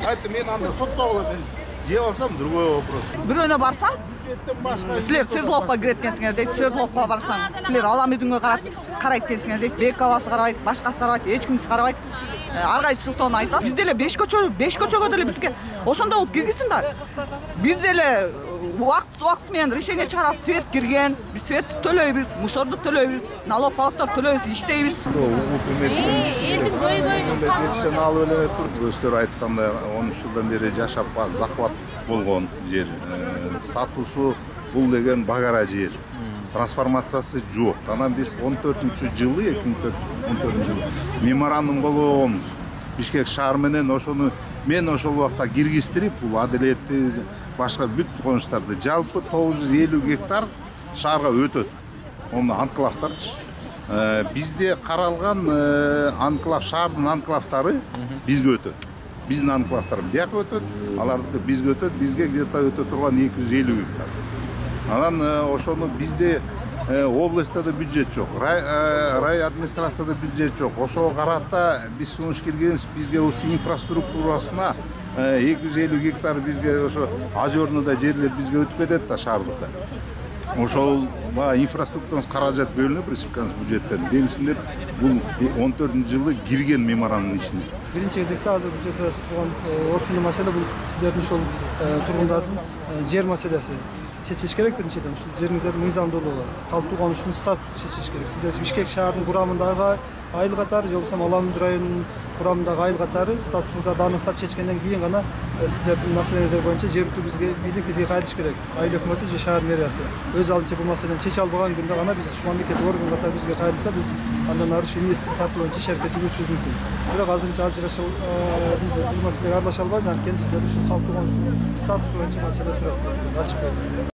Айтты мен анда соттогула мен жеп алсам другой вопрос. Бирөөнө барсаң, силер Свердловка кирет экенсиңер дейт. Свердловка барсаң, силер Алам үйдүнгө карайт экенсиңер дейт. Бекабасы карабайт, башкасы карабайт, эч кимиси карабайт. Ар кайсы сылтоону айтат. Биз деле 5 көчөгө деле бизге ошондой болуп киргизсин да. Биз деле убакыт менен решение чыгарабыз. Свет кирген, биз светти төлөйбүз, мусорду төлөйбүз, налог палактарды төлөйбүз, иштейбиз. Элдин көйгөйүн алып эле туруп, өздөрү айткандай 13 жылдан бери жашап захват болгон жер. Статусу бул деген багара жер. Трансформациясы жок. Анан биз 2014 жылы меморандум болгонбуз. Бишкек шаар менен ошону мен ошол убакта киргизтирип, бул адилетти башка бүт конуштарды жалпы 950 гектар шаарга өтөт. Оны анклавтарчы. Бизде каралган анклав, шаардын анклавтары бизге өтөт. Биздин анклавтар бияка өтөт, аларды бизге өтөт, бизге где-то өтө турган 250 гектар. Анан ошону бизде областта да бюджет жок, рай администрацияда бюджет жок. Ошого карата биз сунуш келгенбиз, бизге ушу инфраструктурасына 250 гектар бизге ошо озерныйда жерлер бизге өтүп кетет да шаардыкка. Ошол инфраструктуранын каражат бөлүнүп, республиканын бюджеттен белгисиндеп, бул 14 жылы кирген меморандумдун ичине. Биринчи кезекте азыр бул жерде турган орчундуу маселе бул сиздердин ошол тургундардын жер маселеси. Чечиш керек биринчиден, ушул жериңиздердин мыйзамдуулугу, калктуу конуштун статусун чечиш керек. Сиздер Бишкек шаарынын курамындагы айыл катары же болбосо Алам районунун курамындагы айыл катары статусуңуздарды аныктап чечкенден кийин гана сиздердин маселеңиздер боюнча жергиликтүү бизге кайтыш керек. Айыл өкмөтү же шаар мэриясы өз алдынча бул маселени чече албаган күндө гана биз мамлекеттик орган катары бизге кайрылса, биз андан ары инвестиция тартуу боюнча иш аракет жүргүзүшүбүз мүмкүн. Бирок азырынча биз бул маселеге аралаша албайбыз, анткени сиздер ушул калктуу конуштун статусу боюнча маселе турат. Ачык.